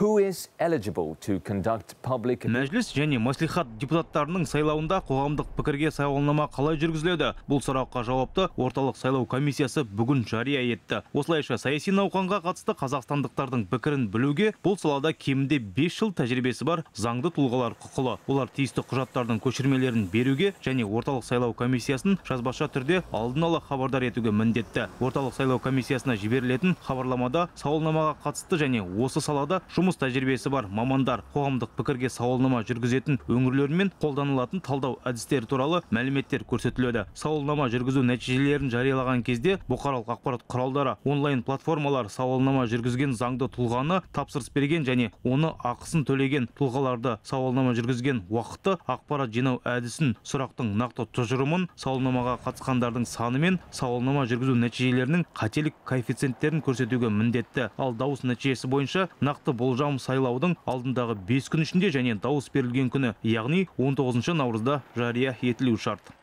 Who is eligible to conduct public... Мәжіліс және мәслихат депутаттарының сайлауында қоғамдық пікірге сауалнама қалай жүргізіледі? Бұл сұраққа жауапты орталық сайлау комиссиясы бүгін жария етті. Осылайша саяси науқанға қатысты қазақстандықтардың пікірін білуге бұл салада кемінде 5 жыл тәжірибесі бар заңды тұлғалар құқылы. Олар тиісті құжаттардың көшірмелерін беруге және орталық сайлау комиссиясын жазбаша түрде алдын ала хабардар етуге міндетті. Орталық сайлау комиссиясына жіберілетін хабарламада сауалнамаға қатысты және осы салада жұмыс тәжірибесі бар мамандар, қоғамдық пікірге сауалнама жүргізетін өңірлер мен қолданылатын талдау әдістері туралы мәліметтер көрсетіледі. Сауалнама жүргізу нәтижелерін жариялаған кезде бұқаралық ақпарат құралдары, онлайн платформалар сауалнама жүргізген заңды тұлғаны, тапсырыс берген және оны ақысын төлеген тұлғаларды, сауалнама жүргізген уақытты, ақпарат жинау әдісін, сұрақтың нақты тұжырымын, сауалнамаға қатысқандардың саны мен сауалнама жүргізу нәтижелерінің қателік коэффициенттерін көрсетуге міндетті. Ал дауыс нәтижесі бойынша нақты болжам сайлаудың алдындағы 5 күн ішінде және дауыс берілген күні, яғни 19 наурызда жария етілуі шарт.